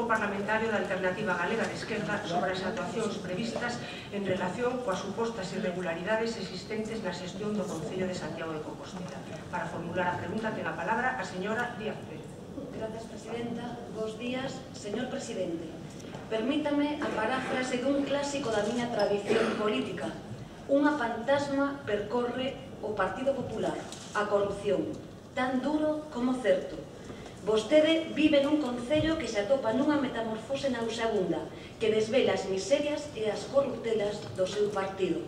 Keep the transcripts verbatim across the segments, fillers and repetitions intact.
Grupo Parlamentario da Alternativa Galega de Esquerda sobre as actuacións previstas en relación coas supostas irregularidades existentes na xestión do Concello de Santiago de Compostela. Para formular a pregunta ten a palabra a señora Díaz Pérez. Gracias, presidenta. Bos días, señor presidente. Permítame a paráfrase dun clásico da miña tradición política. Unha fantasma percorre o Partido Popular, a corrupción, tan duro como certo. Vostede vive nun concello que se atopa nunha metamorfose nauseabunda que desvela as miserias e as corruptelas do seu partido.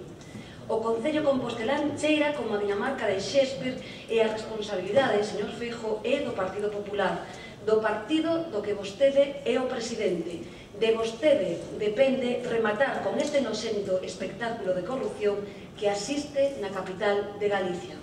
O concello compostelán cheira como a Dinamarca de Shakespeare e a responsabilidade, señor Feijóo, é do Partido Popular, do partido do que vostede é o presidente. De vostede depende rematar con este noxento espectáculo de corrupción que asiste na capital de Galicia.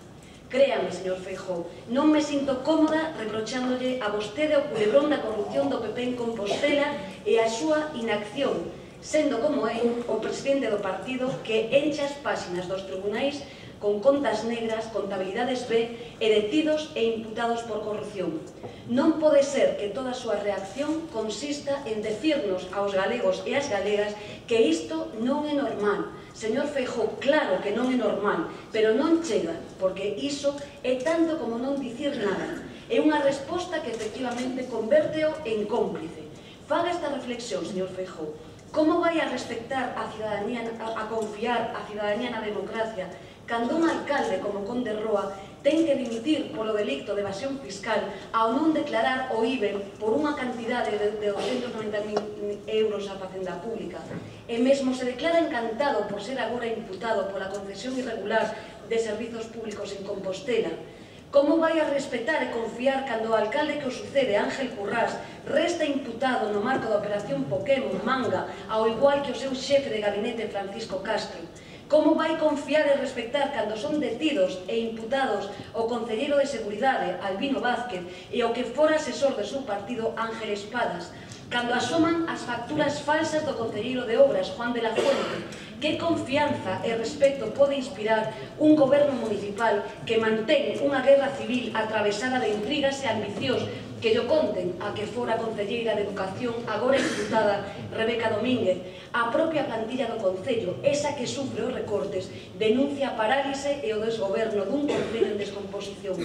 Créame, señor Feijóo, non me sinto cómoda reprochándole a vostede o culebrón da corrupción do P P en Compostela e a súa inacción, sendo como é o presidente do partido que enche as páxinas dos tribunais con contas negras, contabilidades B e detidos e imputados por corrupción. Non pode ser que toda a súa reacción consista en decirnos aos galegos e ás galegas que isto non é normal. Señor Feijóo, claro que non é normal, pero non chega, porque iso é tanto como non dicir nada. É unha resposta que efectivamente convérteo en cómplice. Faga esta reflexión, señor Feijóo. Como vai a respectar a cidadanía, a confiar a cidadanía na democracia, cando un alcalde como Conde Roa ten que dimitir polo delicto de evasión fiscal ao non declarar o I B E por unha cantidade de doscientos noventa mil euros á Facenda Pública e mesmo se declara encantado por ser agora imputado pola concesión irregular de servizos públicos en Compostela? Como vai a respetar e confiar cando o alcalde que o sucede, Ángel Currás, resta imputado no marco da operación Pokémon Manga, ao igual que o seu xefe de gabinete Francisco Castro? Como vai confiar e respectar cando son detidos e imputados o concelleiro de Seguridade, Albino Vázquez, e o que fora asesor do seu partido, Ángel Espadas? Cando asoman as facturas falsas do concelleiro de Obras, Juan de la Fuente? Que confianza e respecto pode inspirar un goberno municipal que mantén unha guerra civil atravesada de intrigas e ambicións que lle conten a que fora concelleira de Educación, agora imputada, Rebeca Domínguez? A propia plantilla do Concello, esa que sufre os recortes, denuncia a parálise e o desgoberno dun Concello en descomposición.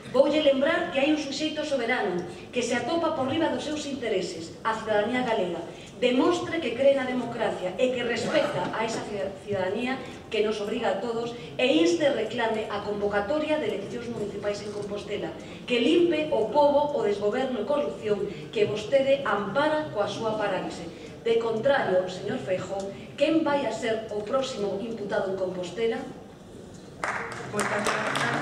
Voulle lembrar que hai un suxeito soberano que se atopa por riba dos seus intereses, a cidadanía galega. Demostre que cree na democracia e que respecta a esa cidadanía que nos obriga a todos e inste e reclame a convocatoria de eleccións municipais en Compostela, que limpe o pobo o desgoberno e corrupción que vostede ampara coa súa parálise. De contrario, señor Feijóo, quen vai a ser o próximo imputado en Compostela? Moitas grazas.